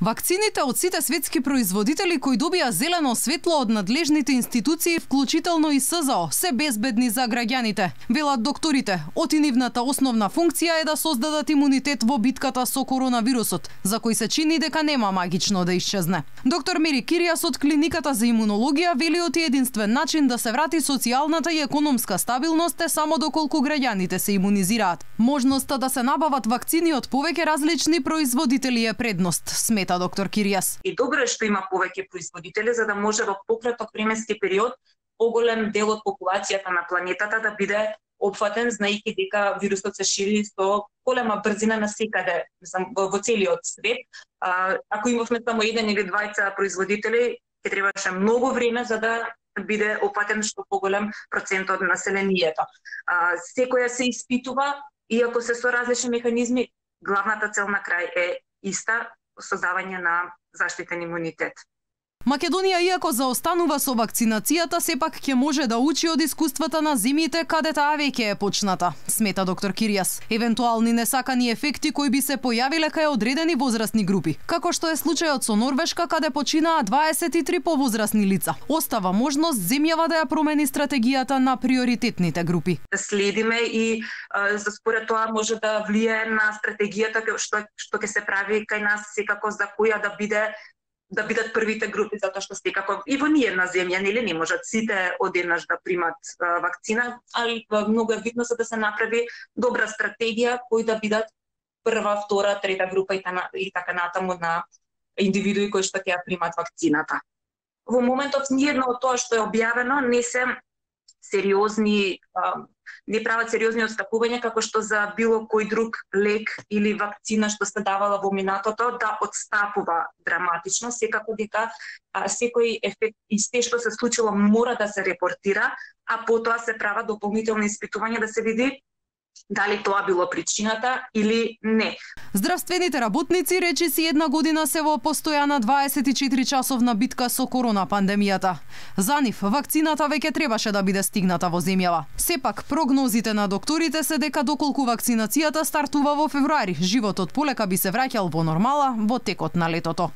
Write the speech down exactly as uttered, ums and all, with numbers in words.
Вакцините од сите светски производители кои добија зелено светло од надлежните институции, вклучително и С З О, се безбедни за граѓаните. Велат докторите, оти нивната основна функција е да создадат имунитет во битката со коронавирусот, за кој се чини дека нема магично да исчезне. Доктор Мери Киријас од клиниката за имунологија вели оти единствен начин да се врати социјалната и економска стабилност е само доколку граѓаните се имунизираат. Можноста да се набават вакцини од повеќе различни производители е предност, смета доктор Киријас. И добро е што има повеќе производители за да може во пократок временски период поголем дел од популацијата на планетата да биде опфатен, знаејќи дека вирусот се шири со голема брзина насекаде во целиот свет. А, ако имавме само еден или двајца производители, ќе требаше многу време за да биде опфатен што поголем процент од населението. А, секоја се испитува, иако се со различни механизми, главната цел на крај е иста: создавање на заштитен имунитет. Македонија, иако заостанува со вакцинацијата, сепак ќе може да учи од искуствата на земјите каде таа веќе е почната, смета доктор Киријас. Евентуални несакани ефекти кои би се појавиле кај одредени возрастни групи, како што е случајот со Норвешка каде починаа дваесет и три повозрастни лица. Остава можност земјава да ја промени стратегијата на приоритетните групи. Следиме и за според тоа може да влијае на стратегијата што што ќе се прави кај нас, секако за која да биде да бидат првите групи, затоа што секако и во ние на земја нели не можат сите одеднаш да примат а, вакцина, али многу е битно за да се направи добра стратегија кои да бидат прва, втора, трета група и, тана, и така натаму на индивидуи кои што ќе ја примат вакцината. Во моментов ниедно од тоа што е објавено не се сериозни а, не прават сериозни отстапувања како што за било кој друг лек или вакцина што се давала во минатото да отстапува драматично, секако дека а, секој ефект и се што се случило мора да се репортира, а потоа се прават дополнителни испитувања да се види дали тоа било причината или не. Здравствените работници речиси една година се во постојана дваесет и четири часовна битка со корона пандемијата. За нив вакцината веќе требаше да биде стигната во земјава. Сепак прогнозите на докторите се дека доколку вакцинацијата стартува во февруари, животот полека би се враќал во нормала во текот на летото.